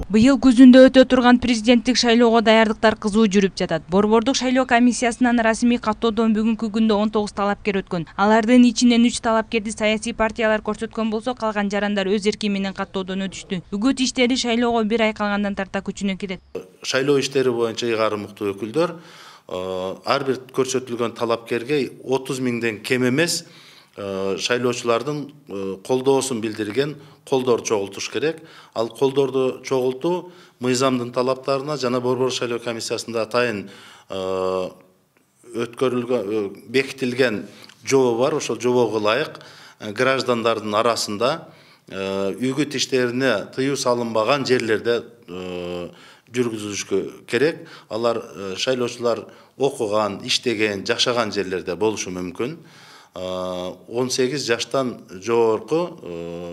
Быйыл күзүндө өтө турган президенттик шайлоого даярдыктар кызуу жүрүп жатат. Борбордук шайлоо комиссиясынан расмий каттоодон бүгүнкү күндө 19 талапкер өткөн. Алардын ичинен 3 талапкерди саясий партиялар көрсөткөн болсо, калган жарандар өз эрки менен каттоодон өтүштү. Үгүт иштери шайлоого 1 ай калгандан тарта күчүнө кирет. Шайлоо иштери боюнча ыйгарым муктуу өкүлдөр ар бир көрсөтүлгөн талапкерге 30 миңден кем эмес шайлоочулардын колдоосун билдирген колдор чогултуш керек. Ал колдорду чогултуу мыйзамдын талаптарына жана Борбордук шайлоо комиссиясында атайын өткөрүлгөн бекитилген жобо бар. Ошол жобого ылайык граждандардын арасында үгүт иштерине тыюу салынбаган жерлерде жүргүзүлүшкө керек. Алар шайлоочулар окуган, иштеген, жашаган жерлерде болушу мүмкүн. 18 жаштан жогорку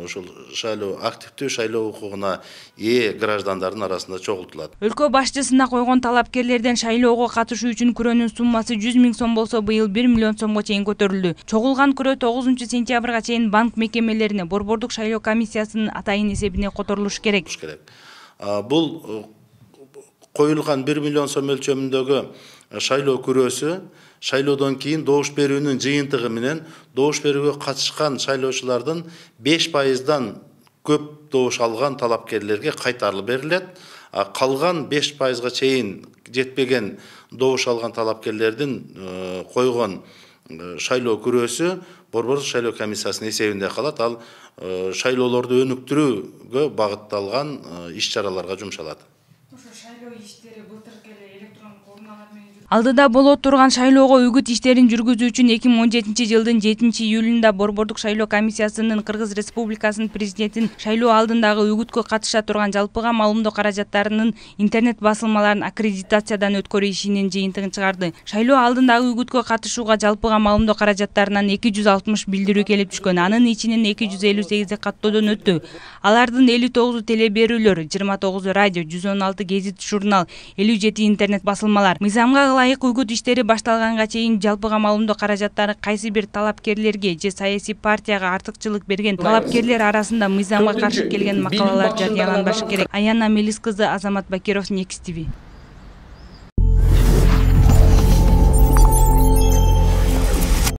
ошол шайлоо активдүү шайлоо укугуна ээ граждандардын арасында чогултулат. Өлкө башчысына койгон талапкерлерден шайлоого катышуу үчүн күрөөнүн суммасы 100 миң сом болсо, быйыл 1 миллион сомго чейин көтөрүлдү. Чогулган күрөө 9-сентябрга чейин банк мекемелерине, Борбордук шайлоо комиссиясынын атайын эсебине которулуш керек. Бул коюлган 1 миллион сом өлчөмүндөгү шайлоо күрөөсү шайлоодон кийин добуш берүүнүн жыйынтыгы менен добуш берүүгө катышкан шайлоочулардын 5%дан көп добуш алган талапкерлерге кайтарылып берилет. Калган 5%га чейин жетпеген добуш алган талапкерлердин койгон шайлоо күрөөсү Борбордук шайлоо комиссиясынын эсебинде калат. Ал шайлоолорду өнүктүрүүгө багытталган иш-чараларга жумшалат. Алдыда боло турган шайлоого үгүт иштерин жүргүзүү үчүн 2017 жылдын 7-июлунда Борбордук шайлоо комиссиясынын Кыргыз Республикасынын президентин шайлоо алдындагы үгүткө катыша турган жалпыга маалымдоо каражаттарынын интернет басылмаларын аккредитациядан өткөрүү ишинин жыйынтыгын чыгарды. Шайлоо алдындагы үгүткө катышууга жалпыга маалымдоо каражаттарынан 260 билдирүү келип түшкөн. Анын ичинен 258 каттоодон өттү. Алардын 59 теле берүүлөр, 29 радио, 116 гезит журнал, 57 интернет басылмалар. Мыйзамга ылайык үгүт иштери башталганга чейин жалпыга маалымдоо каражаттары кайсы бир талапкерлерге же саясий партияга артыкчылык берген талапкерлер арасында мыйзамга каршы келген макалалар жарыяланбашы керек. Аяна Мелис кызы, Азамат Бакиров, Next TV.